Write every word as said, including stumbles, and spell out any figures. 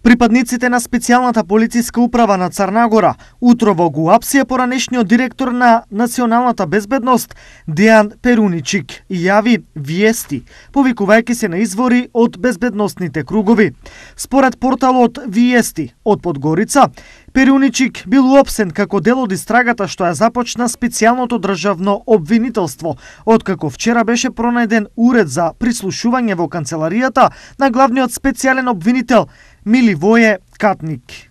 Припадниците на специјалната полициска управа на Црна утрово го апсија поранешниот директор на националната безбедност Дејан Перуничик и јави виести, повикувајќи се на извори од безбедносните кругови. Според порталот Виести од Подгорица, Перуничик бил уапсен како дел од истрагата што ја започна специјалното државно обвинителство, откако вчера беше пронајден уред за прислушување во канцеларијата на главниот специјален обвинител Миливоје Катник.